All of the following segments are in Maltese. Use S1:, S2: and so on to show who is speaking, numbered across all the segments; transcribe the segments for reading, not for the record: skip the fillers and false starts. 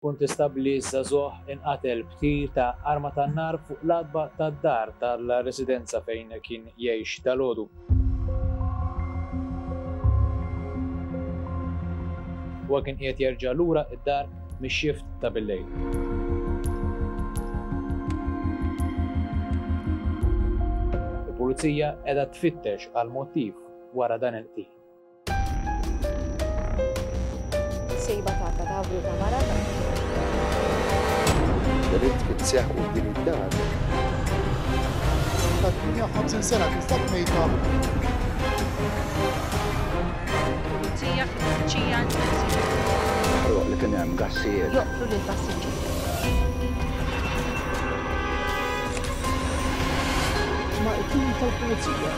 S1: Kuntistabbli żagħżugħ inqatel b'tir ta' arma tan-nar fuq l-għatba tad-dar tal-residenza fejn kien jgħix dalgħodu. Huwa kien qiegħed jerġa' lura d-dar mix-xift ta' billejl. Il-Pulizija qiegħda tfittex għall-mottiv wara dan il-qtil.
S2: Sejba ta' katavru ta' mara ta'
S3: Delitt kien seħħ quddiem id-dar.
S4: Ta' 58 sena tinsab mejta.
S5: Pulizija fi tfittxija intensiva.
S3: Ħruq li kien hemm gassijiet.
S5: Joqtlu lill-passiġġier.
S4: Ma' it-tim tal-Pulizija.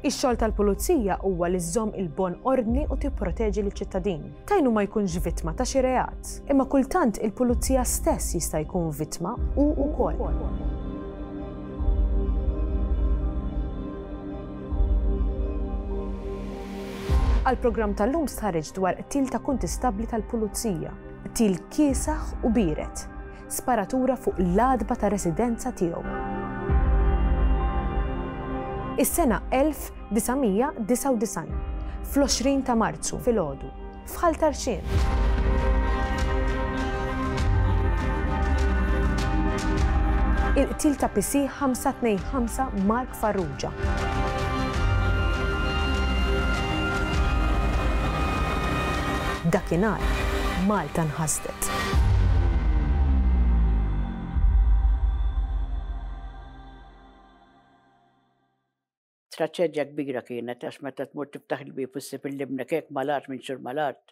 S6: Ix-xogħol tal-pulizija huwa li żżomm il-bon ordni u tipproteġi liċ-ċittadin. Tajnu ma jkunx vittma ta' xi reat. Imma kultant il-pulizija stess jista' jkun vittma hu wkoll. Għall-programm tal-lum stħarriġt dwar qtil ta' kuntistabbli tal-Pulizija, qtil kiesaħ u biered, sparatura fuq l-għatba ta' residenza tiegħu. Is-sena 1999, fl-20 ta' Marzu filgħodu, f'Ħal Tarxien. Il-qtil ta' PC 525 Mark Farrugia. Dakinhar, Malta nħasdet.
S7: Traċedja kbira kienet għax meta tmur tiftaħ il-bieb u ssib il-libnek hekk mal-art minn xhur mal-art,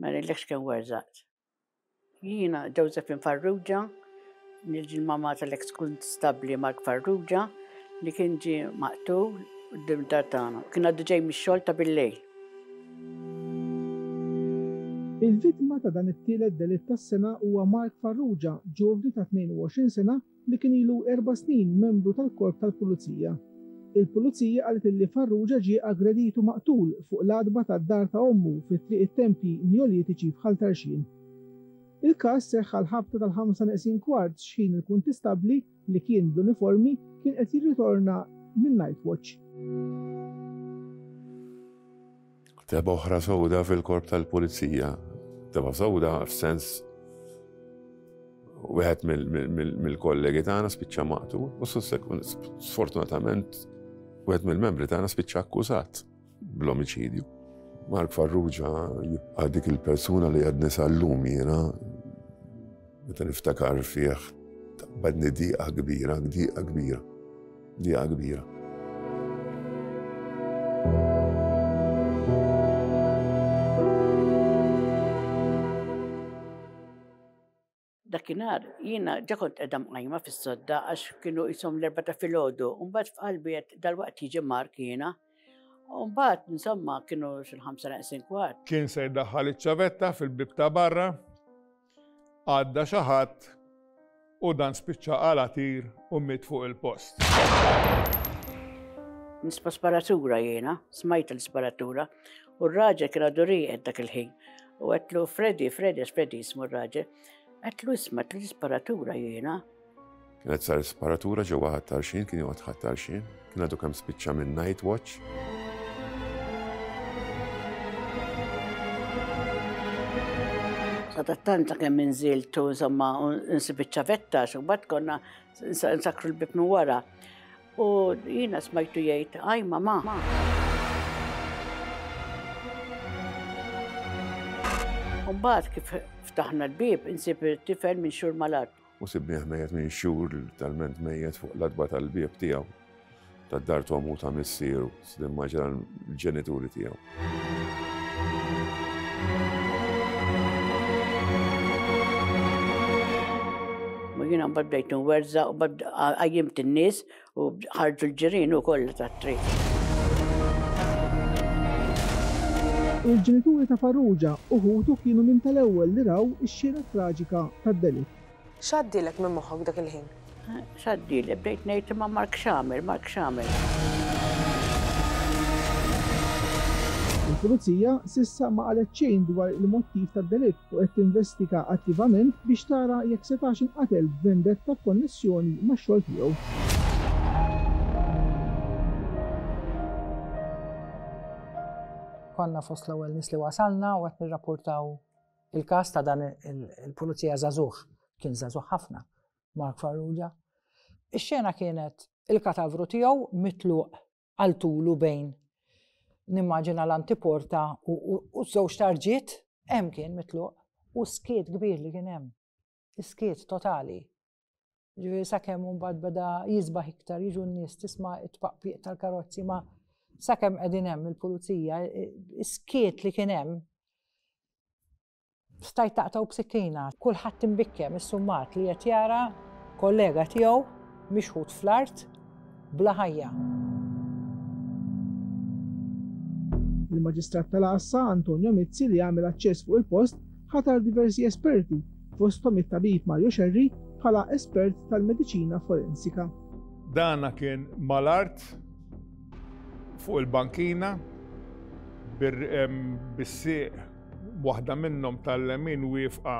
S7: ma ngħidlekx kemm werżaqt. Jiena Josephine Farrugia, niġi l-mamma tal-eks kunstabbli Mark Farrugia li kien ġie maqtul quddiem dar tagħna. Kien għadu ġej mix-xogħol ta' billejl.
S4: Il-vittma ta' dan it-tielet delitt tas-sena huwa Mark Farrugia, ġuvni ta' 22 sena li kien ilu erba' snin membru tal-Korp tal-Pulizija. Il-Pulizija qalet illi Farrugia ġie aggredit u maqtul fuq l-għatba tad-dar ta' ommu fi Triq it-Tempji Neolitiċi f'Ħal Tarxien. Il-każ seħħ għall-ħabta tal-ħamsa neqsin kwart x'ħin il-kuntistabbli, li kien bl-uniformi, kien qed jirritorna minn night watch.
S8: Tebgħa oħra sewda fil-Korp tal-Pulizija. Tebgħa sewda f'sens wieħed mill-kollegi tagħna spiċċa maqtul u sfortunatament wieħed mill-membri tagħna spiċċa akkużat bl-omiċidju. Mark Farrugia jibqa' dik il-persuna li għadni sal-lum jiena meta niftakar fih taqbadni diqa kbira, diqa kbira, diqa kbira.
S7: Dakinhar jiena ġa kont qiegħda mqajma fis-sodda għax kienu qishom l-erbgħa ta' filgħodu u mbagħad f'qalbi għedt dalwaqt jiġi Mark jiena. U mbagħad insomma kienu xil-ħamsa neqsin kwart.
S9: Kien se jdaħħal iċ-ċavetta fil-bieb ta' barra, għadda xi ħadd u dan spiċċa qala' tir u miet fuq il-post.
S7: Nisma' sparatura jiena, smajt l-isparatura, u r-raġel kien għadu rieqed dak il-ħin. U għedtlu Freddy, Freddy, għax Freddy jismu r-raġel, għedtlu isma' għedtlu l-isparatura jiena.
S8: Kienet sar sparatura ġewwa Ħal Tarxien, kien joqgħod Ħal Tarxien, kien għadu kemm spiċċa minn night watch.
S7: Sadattant sakemm inżilt u insomma nsib iċ-ċavetta għax imbagħad konna nsakkru l-bieb minn wara. U jiena smajtu jgħid, "Aj mamà." U mbagħad kif ftaħna l-bieb insib it-tifel minn xhur mal-art.
S8: U sibnieh mejjet minn xhur, literalment mejjet fuq l-għatba tal-bieb tiegħu. Tad-dar t'ommu u ta' missieru, nimmaġina l-ġenituri tiegħu.
S7: U jiena mbagħad bdejt nwerżaq u mbagħad qajjimt in-nies u ħarġu l-ġirien u kollha tat-triq.
S4: Il-ġenituri ta' Farrugia u ħutu kienu minn tal-ewwel li raw ix-xena traġika tad-delitt.
S6: X'għaddielek minn moħħok dak il-ħin?
S7: X'għaddieli, bdejt ngħid imma Mark x'għamel, Mark x'għamel.
S4: Il-Pulizija s'issa ma qalet xejn dwar il-mottiv tad-delitt u qed tinvestiga attivament biex tara jekk setax inqatel b'vendetta b'konnessjoni max-xogħol tiegħu.
S10: Konna fost l-ewwel nies li wasalna u qed nirrapportaw il-każ ta' dan il-pulizija żagħżugħ, kien żagħżugħ ħafna, Mark Farrugia. Ix-xena kienet il-katavru tiegħu mitluq għal tulu bejn nimmaġina l-antiporta u żewġ tarġiet hemm kien mitluq u skiet kbir li kien hemm. Skiet totali. Ġifieri sakemm mbagħad beda jisbaħ iktar jiġu n-nies tisma' it-tpaqpiq tal-karozzi ma sakemm qegħdin hemm il-pulizija, skiet li kien hemm Stajt taqtgħu b'sikkina. Kulħadd imbikkem issummat li qed jara kollega tiegħu mixħut fl-art bla ħajja.
S4: Il-Maġistrat tal-Għassa, Antonio Mizzi li għamel aċċess fuq il-post, ħatar diversi esperti, fosthom it-tabib Mario Scerri bħala espert tal-mediċina forensika.
S9: Dana kien mal-art fuq il-bankina bis-sieq Waħda minnhom tal-lemin wieqfa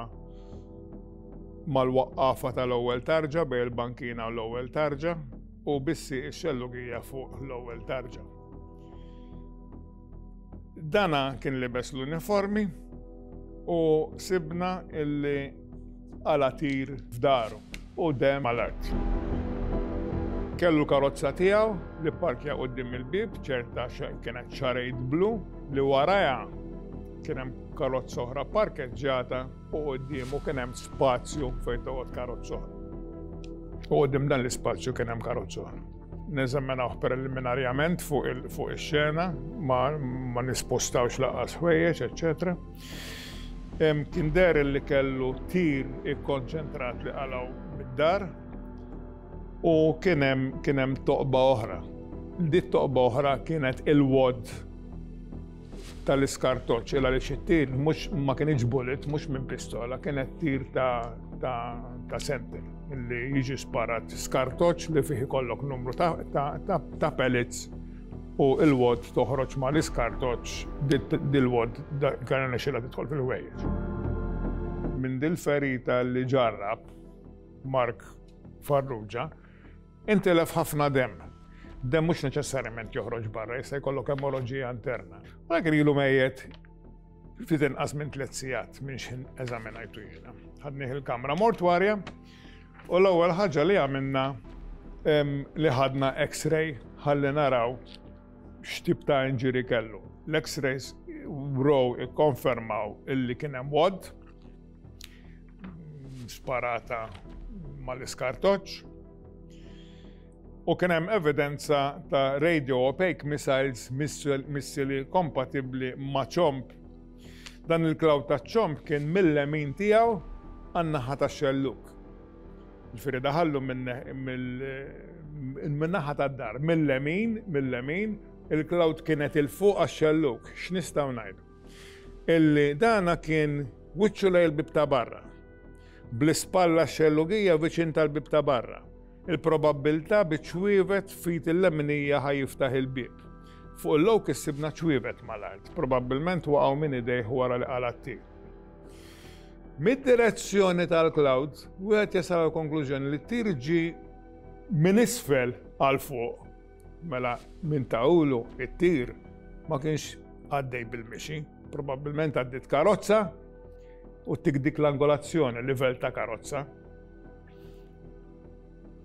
S9: mal-waqqafa tal-ewwel tarġa bejn il-bankina u l-ewwel tarġa u bissi x-xellugija fuq l-ewwel tarġa. Dana kien libes l-uniformi u sibna illi qala' tir f'daru u demm mal-art. Kellu l-karozza tiegħu li pparkja quddiem il-bieb, ċerta kienet Charade blu li warajha kien hemm karozza oħra pparkeġġjata u quddiemu kien hemm spazju fejn toqgħod karozza oħra. U quddiem dan l-ispazju kien hemm karozza oħra. Neżaminawh preliminarjament fuq ix-xena, ma nispostawx lanqas ħwejjeġ, eċċetera. Kien deher li kellu tir ikkonċentrat li qalgħu mid-dar u kien hemm kien hemm toqba oħra. Dik toqba oħra kienet il-wad tal-iskartoċċ il għaliex it-tir mhux ma kienx bullet, mhux minn pistola, kienet tir ta' ta' ta' senter li jiġi sparat skartoċċ li fih ikollok numru ta' ta' ta' ta' pellets u il-wod toħroġ ma l-iskartoċ dil-wod kellha nexxilha tidħol fil-ħwejjeġ. Minn dil-ferita li ġarrab Mark Farrugia, intilef ħafna demm. Demm mhux neċessarjament joħroġ barra, jista' jkollok emoroġija interna. U dak ilu mejjet ftit inqas minn tliet sigħat minn x'ħin eżaminajtu jiena. Ħadnih il-kamra mortwarja u l-ewwel ħaġa li għamilna li ħadna x-ray ħalli naraw x'tip ta' injury kellu. L-x-rays wrow ikkonfermaw illi kien hemm wad sparata mal-iskartoċ U kien hemm evidenza ta' radio opaque missiles, missili kompatibbli ma' ċomb. Dan il-cloud ta' ċomb kien mill-lemin tiegħu għan-naħa tax-xellug. Ġifieri daħallu min-naħa tad-dar, mill-lemin, mill-lemin, il-cloud kienet 'il fuq għax-xellug. X'nistgħu ngħidu? Illi dana kien wiċċu lejn il-bieb ta' barra. Bl-ispalla x-xellugija viċin tal-bieb ta' barra. Il-probabbiltà bi ċwievet f'id il-leminija ħa jiftaħ il-bieb. Fuq il-lowk issibna ċwievet mal-art, probabbilment waqgħu minn idejh wara li qala' t-tir. Mid-direzzjoni tal-cloud, wieħed jasal għall-konklużjoni li t-tir ġie minn isfel għal fuq. Mela minn ta'ulu it-tir ma kienx għaddej bil-mixi, probabbilment għaddiet karozza u tik dik l-angolazzjoni, livell ta' karozza.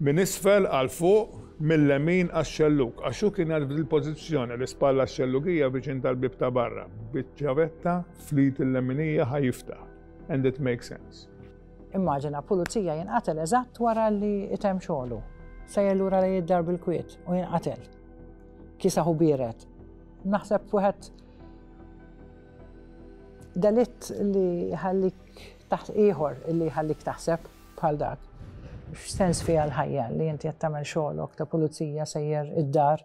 S9: Minn isfel għal fuq, mil-lemin għax-xellug, għax hu kien qiegħed f'dil-pożizzjoni, l-ispalla x-xellugija viċin tal-bieb ta' barra, biċ-ċavetta fl-id il-leminija ħa jiftaħ. And it makes sense.
S10: Immaġina pulizija jinqatel eżatt wara li itemm xogħlu. Sejjer lura lejn id-dar bil-kwiet u jinqatel. Kiesaħ u biered. Naħseb wieħed delitt li jħallik taħt ieħor li jħallik taħseb bħal dak. X'sens fiha l-ħajja li inti qed tagħmel xogħlok ta' pulizija sejjer id-dar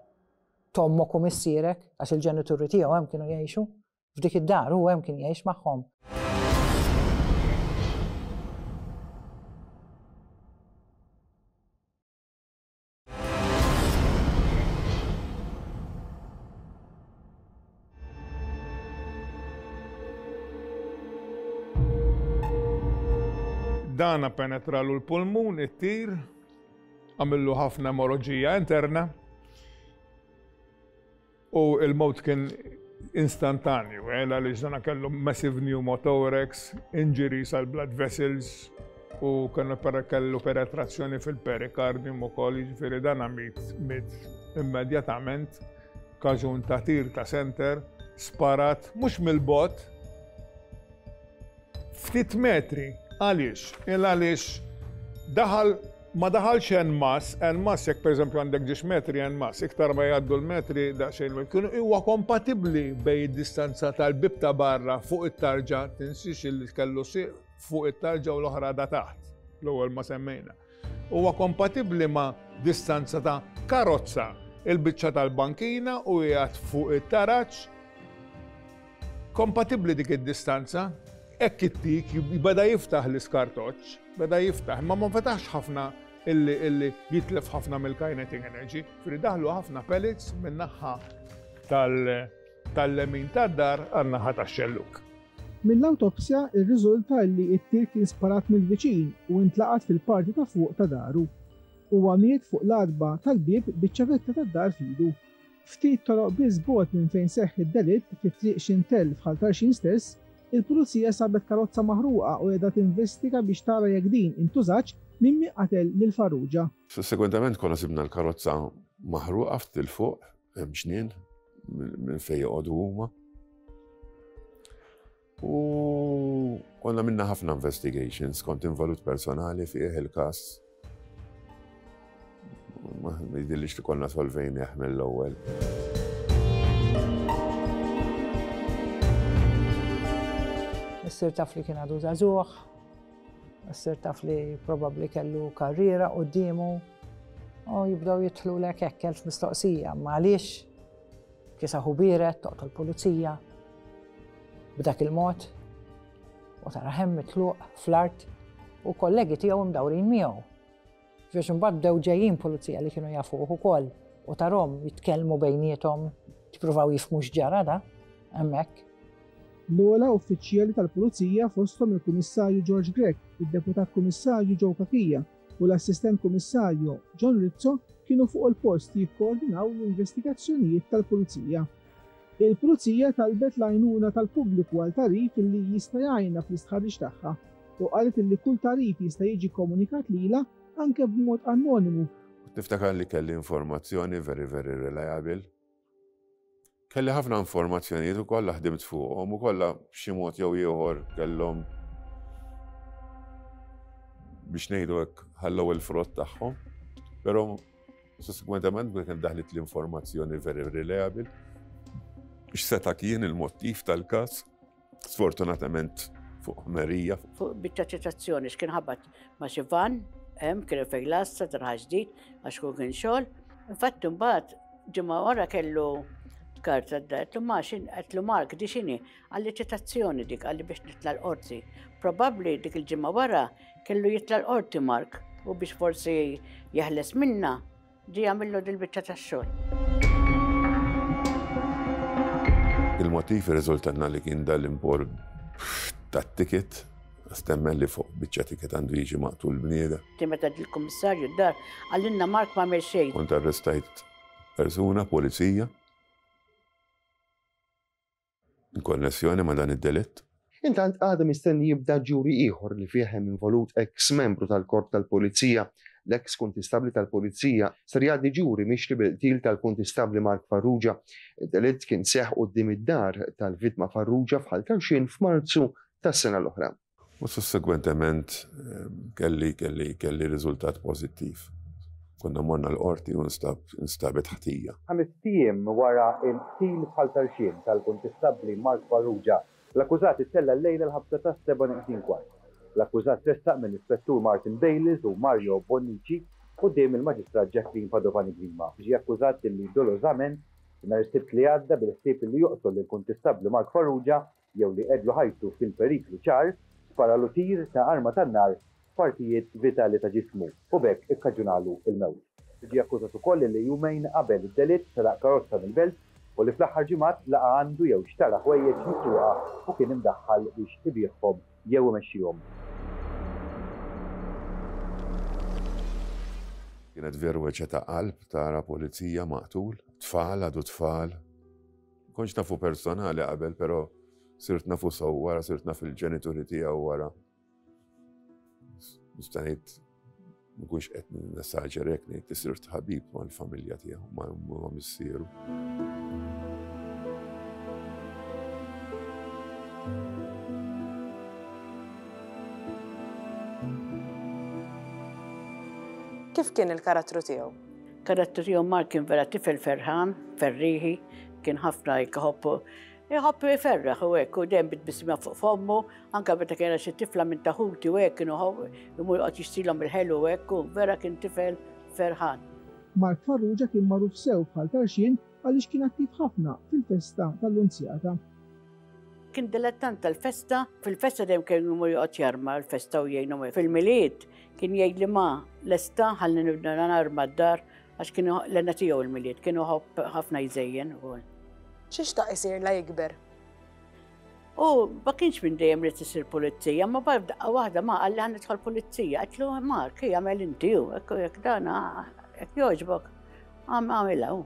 S10: t'ommok u missierek għax il-ġenituri tiegħu hemm kienu jgħixu f'dik id-dar hu hemm kien jgħix magħhom.
S9: Dana penetralu l-pulmun, it-tir, għamillu ħafna emoroġija interna u il-mewt kien instantanju, eh, għaliex dana kellu massive pneumothorax, injuries għal blood vessels u kellu kellu penetrazzjoni fil-perikardium ukoll, jiġifieri dana miet miet immedjatament kaġun ta' tir ta' center sparat mhux mill-bot Ftit metri. Għaliex? Il għaliex daħal ma daħalx en masse, en masse jekk pereżempju għandek ġiex metri en masse, iktar ma jgħaddu l-metri daqsxejn kienu huwa kompatibbli bej id-distanza tal-bib ta' barra fuq it-tarġa, tinsiex li kellu sieq fuq it-tarġa u l-oħra da taħt, l-ewwel ma semmejna. Huwa kompatibbli ma' distanza ta' karozza, il-biċċa tal-bankina u qiegħed fuq it-taraġ Kompatibbli dik id-distanza, hekk it-tik beda jiftaħ l-iskartoċċ, beda jiftaħ, imma ma fetaħx ħafna illi illi jitlef ħafna mill-kinetic energy, fri daħlu ħafna pellets min-naħa tal-lemin tad-dar għan-naħa tax-xellug.
S4: Mill-awtopsja rriżulta li t-tir kien sparat mill-viċin u intlaqat fil-parti ta' fuq ta' daru. Huwa miet fuq l-għatba tal-bieb biċ-ċavetta tad-dar f'idu. Ftit toroq biss bogħod minn fejn seħħ id-delitt, fi Triq Xintell f'Ħal Tarxien stess, il-Pulizija sabet karozza maħruqa u qiegħda tinvestiga biex tara jekk din intużatx minn min qatel lil Farrugia.
S8: Sussegwentament konna sibna l-karozza maħruqa ftit 'il fuq, hemm ġnien minn fejn joqogħdu huma. U konna minna ħafna investigations, kont involut personali fih il-kas. Ma jidillix li konna solvejnieh mill-ewwel.
S10: Issir taf li kien għadu żagħżugħ, issir taf li probabbli kellu karriera quddiemu u jibdew jidħlu lek hekk elf mistoqsija, ma għaliex kiesaħu biered toqtol pulizija b'dak il-mod u tara hemm mitluq fl-art u kollegi tiegħu mdawrin miegħu. Biex imbagħad bdew ġejjin pulizija li kienu jafuh ukoll u tarhom jitkellmu bejniethom, jippruvaw jifhmu x'ġara da hemmhekk.
S4: L-ogħla uffiċjali tal-Pulizija fosthom il-Kummissarju George Grech, id-Deputat Kummissarju Joe Cachia u l-Assistent Kummissarju John Rizzo kienu fuq il-post jikkoordinaw l-investigazzjonijiet tal-Pulizija. Il-Pulizija talbet l-għajnuna tal-pubbliku għal tagħrif li jista' jgħinha fl-istħarriġ tagħha u qalet li kull tagħrif jista' jiġi kkomunikat lilha anke b'mod anonimu.
S8: Niftakar li kelli informazzjoni very very reliable. Kelli ħafna informazzjonijiet u kollha ħdimt fuqhom u kollha b'xi mod jew ieħor kellhom biex ngħidu hekk ħallew il-frott tagħhom. Però Sussegwentement kien daħlet l-informazzjoni very reliable x'seta' kien il-mottiv tal-każ, sfortunatament fuq ħmerija.
S7: Fuq biċċa ċitazzjoni x'kien ħabat ma' xi van, hemm kien fejn lassa tarħa ġdid għax kun kien xogħol. Infatti mbagħad ġimgħa wara kellu karta d-dar, ma xin, għetlu Mark, di xini, għalli ċitazzjoni dik, għalli biex nitla l-qorti. Probabli dik il-ġimgħa wara Kellu jitla' l-qorti Mark u biex forsi jeħles minna, ġie jagħmillu dil-biċċa tax-xogħol.
S8: Il-motiv irriżultanna li kien dal-impor tat-ticket, stemmen li fuq biċċa ticket għandu jiġi maqtul bniedem.
S7: Meta ġie l-kummissarju d-dar, qalilna Mark m'għamel xejn.
S8: Kont arrestajt persuna, pulizija. In konnessjoni ma' dan id-delitt.
S11: Intant għada mistenni jibda ġuri ieħor li fih hemm involut eks membru tal-Korp tal-Pulizija. L-eks Kuntistabbli tal-Pulizija ser jgħaddi ġuri mixli bil-qtil tal-Kuntistabbli Mark Farrugia. Id-delitt kien seħħ quddiem id-dar tal-vittma Farrugia f'Ħal Tarxien f'Marzu tas-sena l-oħra.
S8: U sussegwentement kelli kelli kelli riżultat pożittiv. Konna morna l-qorti u nstab instabet ħtija.
S1: Ħamest ijiem wara l-qtil f'Ħal Tarxien tal-Kuntistabbli Mark Farrugia, l-akkużat ittella' llejla l-ħabta tas-sebgħa neqsin kwart. L-akkużat tressaq mill-Ispettur Martin Bayliss u Mario Bonnici quddiem il-Maġistrat Jacqueline Padovani Grima. Ġie akkużat illi dolożament, nhar is-Sibt li għadda bil-ħsieb illi joqtol lill-Kuntistabbli Mark Farrugia, jew li qegħdlu ħajtu fil-periklu ċar, sparalu tir ta' arma tan-nar f'partijiet vitali ta' ġismu u b'hekk ikkaġunalu l-mewt. Ġie akkużat ukoll li jumejn qabel id-delitt seraq karozza mill-Belt u li fl-aħħar ġimgħat laqa' għandu jew xtara ħwejjeġ misruqa u kien imdaħħal biex ibiegħhom jew imexxihom.
S8: Kienet veru weġgħa ta' qalb tara pulizija maqtul, tfal għadu tfal. Kontx nafu personali qabel, però sirt nafu sew wara, sirt naf il-ġenituri tiegħu wara. Nista' ngħid mkunx qed nesaġera jekk ngħid li sirt ħabib mal-familja tiegħu, ma' missieru.
S6: Kif kien il-karattru tiegħu?
S7: Karattru tiegħu Mark kien vera tifel ferħan, ferrieħi, kien ħafna jħobb iħobb iferraħ u hekk u dejjem bit-tbissima fuq fommu, anke meta kien xi tifla minn ta' ħuti u hekk kienu imur joqgħod jixtrilhom il-ħelu u hekk u vera kien tifel ferħan.
S4: Mark Farrugia kien magħruf sew bħal Tarxien għaliex kien attiv ħafna fil-festa tal-Lunzjata.
S7: Kien dilettant tal-festa, fil-festa dejjem kien imur joqgħod jarma l-festa u jgħinhom. Fil-Milied kien jgħidli ma lesta ħalli nibda narma d-dar għax kien l-għena tiegħu l-Milied, kien iħobb ħafna jżejjen ukoll.
S6: Xi xtaq isir la jikber?
S7: U ma kienx minn dejjem ried isir pulizija, ma bad daqqa waħda ma qalli ħa nidħol pulizija. Għedtlu Mark, hija għamel inti u hekk jekk dan hekk jogħġbok. Għamilha hu.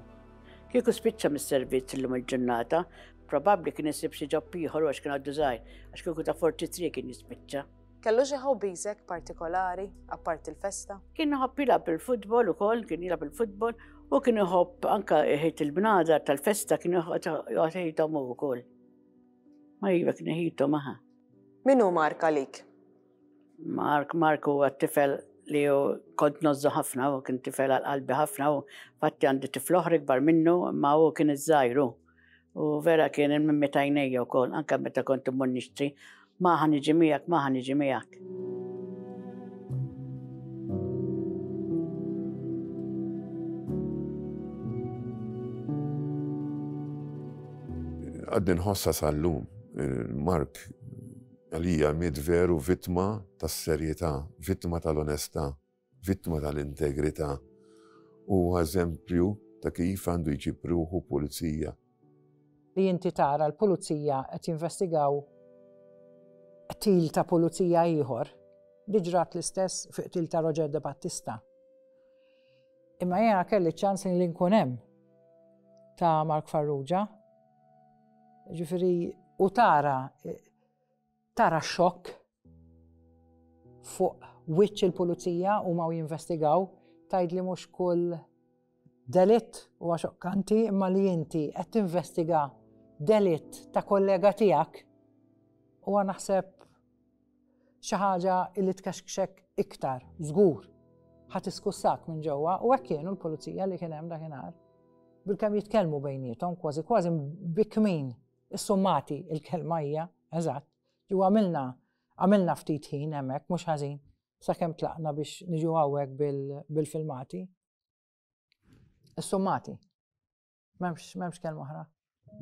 S7: Kieku spiċċa mis-servizz illum il-ġurnata, probabbli kien isib xi ġob ieħor għax kien għaddu żgħir, għax kieku ta' 43 kien jispiċċa.
S6: Kellu xi hobbies hekk partikolari, apparti l-festa?
S7: Kien iħobb jilgħab il-futbol ukoll, kien jilgħab il-futbol u kien iħobb anke iħit il-bnadar tal-festa kien joqgħod iħithom hu wkoll. Ma iva kien iħithom aha.
S6: Min hu Mark għalik?
S7: Mark, Mark huwa t-tifel li hu kont nozzu ħafna, u kien tifel għal qalbi ħafna u fatti għandi tifel oħra ikbar minnu, imma hu kien iż-żgħir hu. U vera kien il-mimmi tajnejja wkoll, anke meta kont immur nixtri, ma ħa niġi miegħek, ma ħa niġi miegħek.
S8: Għadni nħossha sal-lum. Mark għalija miet veru vittma tas-serjetà, vittma tal-onestà, vittma tal-integrità. Huwa eżempju ta' kif għandu jġib ruħu pulizija.
S10: Li inti tara l-pulizija qed jinvestigaw qtil ta' pulizija ieħor, li ġrat l-istess fi qtil ta' Roger De Battista. Imma jiena kelli ċans li nkun hemm ta' Mark Farrugia. Ġifieri u tara tara xokk fuq wiċċ il-pulizija huma u jinvestigaw tgħid li mhux kull delitt huwa xokkanti imma li inti qed tinvestiga delitt ta' kollega tiegħek huwa naħseb xi ħaġa li tkexkxek iktar, żgur. Ħa tiskussak minn ġewwa u hekk kienu l-pulizija li kien hemm dakinhar. Bilkemm jitkellmu bejniethom, kważi kważi bikmin, issummati il-kelma hija, eżatt. Ġu għamilna għamilna ftit ħin hemmhekk mhux ħażin sakemm tlaqna biex niġu hawnhekk bil-filmati. Issummati. M'hemmx m'hemmx kelma oħra.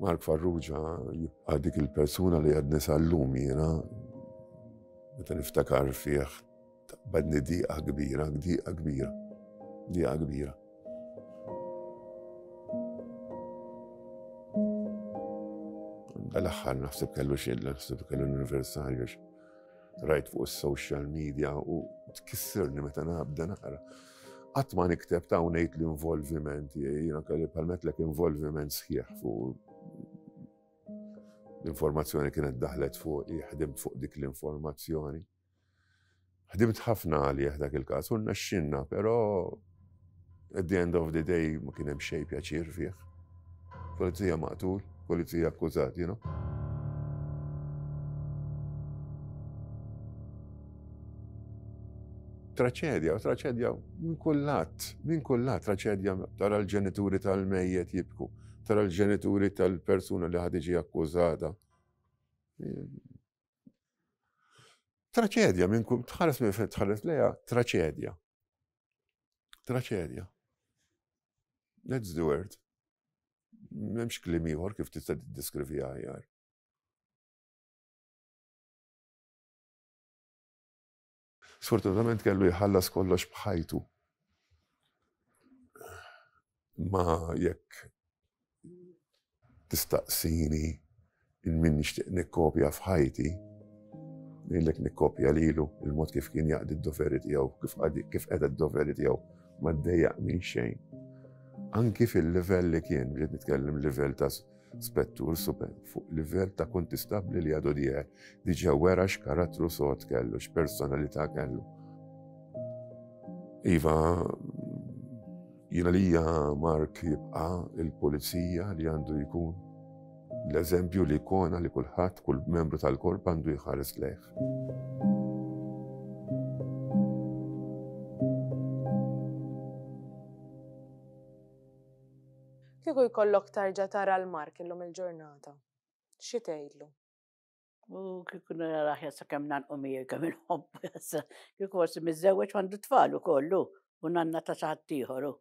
S8: Mark Farrugia jibqa' dik il-persuna li għadni sal-lum jiena meta niftakar fih taqbadni diqa kbira, diqa kbira, diqa kbira. Dal-aħħar naħseb kellu xi naħseb kellu l-anniversarju rajt fuq is-social media u tkissirni meta nabda naqra. Qatt ma nikteb ta' ngħid l-involviment, jiena kelli palmetlek involviment sħiħ fuq l-informazzjoni kienet daħlet fuq, ħdimt fuq dik l-informazzjoni. Ħdimt ħafna għalih dak il-każ u rnexxinna, però at the end of the day ma kien hemm xejn pjaċir fih. Pulizija maqtul, pulizija akkużat, you know. Traċedja, traċedja minn kull lat, minn kull lat, traċedja tara l-ġenituri tal-mejjet jibku, tara l-ġenituri tal-persuna li ħad iġi akkużata. Traċedja minn kull tħares minn fejn tħares lejha, traċedja. Traċedja. That's the word. M'hemmx kliem ieħor kif tista' tiddeskriviha aħjar. Sfortunatament kellu jħallas kollox b'ħajtu. Ma jekk tistaqsini il min nixtieq nikkopja f'ħajti, ngħidlek nikkopja lilu il-mod kif kien jaqdi d-doveri tiegħu, kif qeda d-doveri tiegħu. Ma ddejjaqni xejn. Anki fil-livell li kien, bġiet nitkellem livell ta' spettur super, fuq livell ta' kuntistabbli li għadu dieħel, diġà wera x'karattru sod kellu, x'personalità kellu. Iva, jiena lija Mark jibqa' il-pulizija li għandu jkun l-eżempju li ikona li kulħadd, kull membru tal-korp għandu jħares lejh.
S6: Kieku jkollok tarġa' tara l-Mark illum il-ġurnata, xi tgħidlu?
S7: U kieku narah jassa kemm nanqu miegħi kemm inħobbu jassa. Kieku forsi miżżewweġ għandu tfal ukoll hu u nanna ta' xi ħadd ieħor hu.